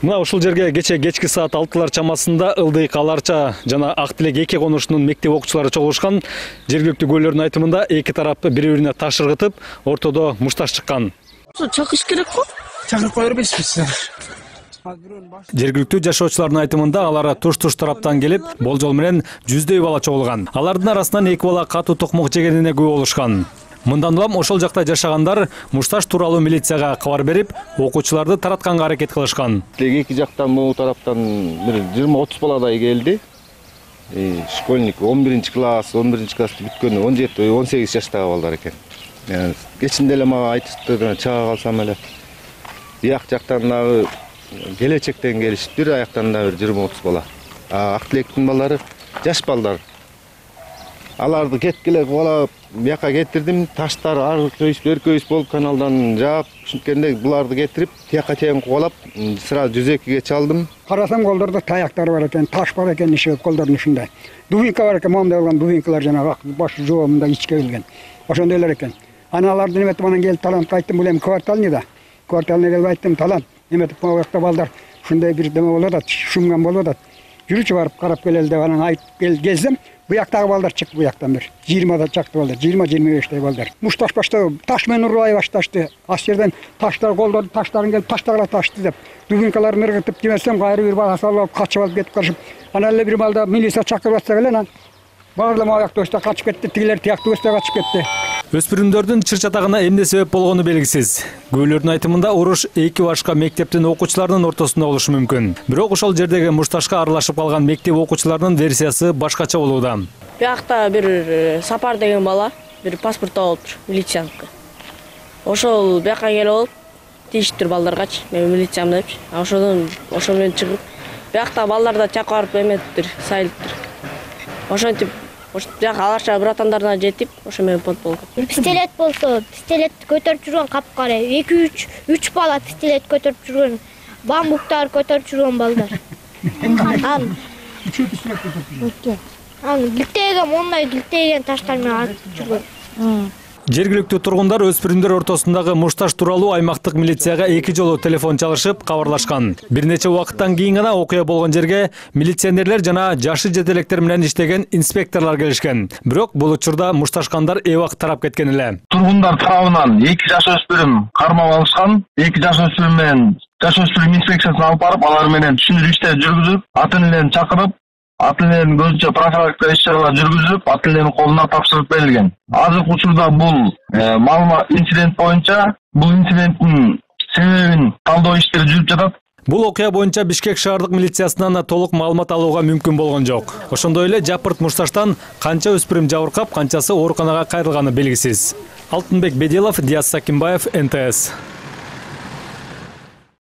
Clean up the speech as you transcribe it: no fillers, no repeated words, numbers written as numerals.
Мына ушул жерге кечки саат 6 чамасында Ылдыйк, Аларча жана Ак Тилек 2 конушунун мектеп окуучулары чогулушкан. Жергиликтүү көөлөрдүн айтымында эки тарап бири-бирине таш ыргытып, ортодо мушташ чыккан. Чакыш керек го? Чакырып кое бербейсизби? Жергиликтүү жашоочулардын айтымында алар туш-туш тараптан келип, болжол менен жүздөй бала чогулган. Алардын арасынан эки бала катуу токмок жегенине күбө болушкан. Мындан улам ошол жакта жашагандар мушташ тууралуу милицияга кабар берип, окуучуларды таратканга аракет кылышкан. Эки жактан могу тараптан бир 20-30 баладай келди. Школьник 11-класс, 11-классты бүткөн 17-18 жаштагы балдар экен. Кечинде эле мага айтышты, чыга калсам эле. Бияк жактан дагы келечектен келишиптир, аяктан да бир 20-30 бала. Ак Тилектин балдары жаш балдар. Аларды кеткиле кубалап бияка кетирдим, таштар ар көйүс болуп каналдан жаап, ушинткенде буларды кетирип, тияка чейин кубалап, сразу 102-ге чалдым. Карасам колдордо таяктар бар экен, таш бар экен иши колдордун ушундай. Дубинка бар экен, момундай болгон дубинкалар жанагы баш жоомунда ичке келген. Ошондойлор экен. Аларды неметип анан келип таланып айттым, бул эми кварталный да. Кварталный келип айттым, талант, неметип могу жакта балдар ушундай бир деме болуп атат, шумган болуп атат. Жүрүчү барып карап келели деп анан айтып келсем, буяктагы балдар чыкты, буяктан бир 20 чакты балдар, 20-25 балдар. Мушташ баштап таш менен урбай башташты. Аш жерден таштар колдорду, таштарын келип таштагыла ташты деп. Дубинкаларын ыргытып демесем, кайры бир бала салып качып алып кетип калышып. Анан эле бир балда милиция чакырып атса эле анан баарлап аякта өстө качып кетти, тигилер тияктуу өстө качып кетти. Өспүрүмдөрдүн чыр-чатагына эмне себеп болгону белгисиз. Көөлөрдүн айтымында уруш эки башка мектептин окуучуларынын ортосунда болушу мүмкүн. Бирок ошол жердеги мушташка аралашып калган мектеп окуучуларынын версиясы башкача болууда. Биякта бир Сапар деген бала, бир паспорт алыптыр, милицияныкы. Ошол бияка келип алып, тийиштир балдаргачы, мен милициямын депчи. Ошол менен чыгып, биякта балдар да чакырып эметиптир, сайылыптыр. Ошентип бияка Аларча братандарына жетип, ошо менен понт болгон. Пистолет болсо, пистолетти көтөрүп жүргөн капкара 2-3 бала пистолет көтөрүп жүргөн, бамбуктар көтөрүп жүргөн балдар. Гилтеген, мондай гилтеген таштар менен атып жүргөн. Жергиликтүү тургундар өспүрүмдөр ортосундагы мушташ тууралуу аймактык милицияга 2 жолу телефон чалышып кабарлашкан. Бир нече убакыттан кийин гана окуя болгон жерге милиционерлер жана жашы жетелектер менен иштеген инспекторлор келишкен. Бирок бул учурда мушташкандар эбак тарап кеткен эле. Тургундар тарабынан 2 жаш өспүрүм кармап алышкан. 2 жаш өспүрүм менен жаш өспүрүм инспекциясына алып барып, алар менен түшүндүрүү иштери жүргүзүп, ата энелерин чакырып, ата энелердин көзүнчө профилактика иш-чаралар жүргүзүлүп, ата энелердин колуна тапшырып берилген. Азыркы учурда бул маалымат инцидент боюнча, бул инциденттин себебин талдоо иштери жүрүп жатат. Бул окуя боюнча Бишкек шаардык милициясынан толук маалымат алууга мүмкүн болгон жок. Ошондой эле жапырт мушташтан канча өспүрүм жабыркап, канчасы ооруканага кайрылганы белгисиз. Алтынбек Беделов, Диас Сакимбаев, НТС.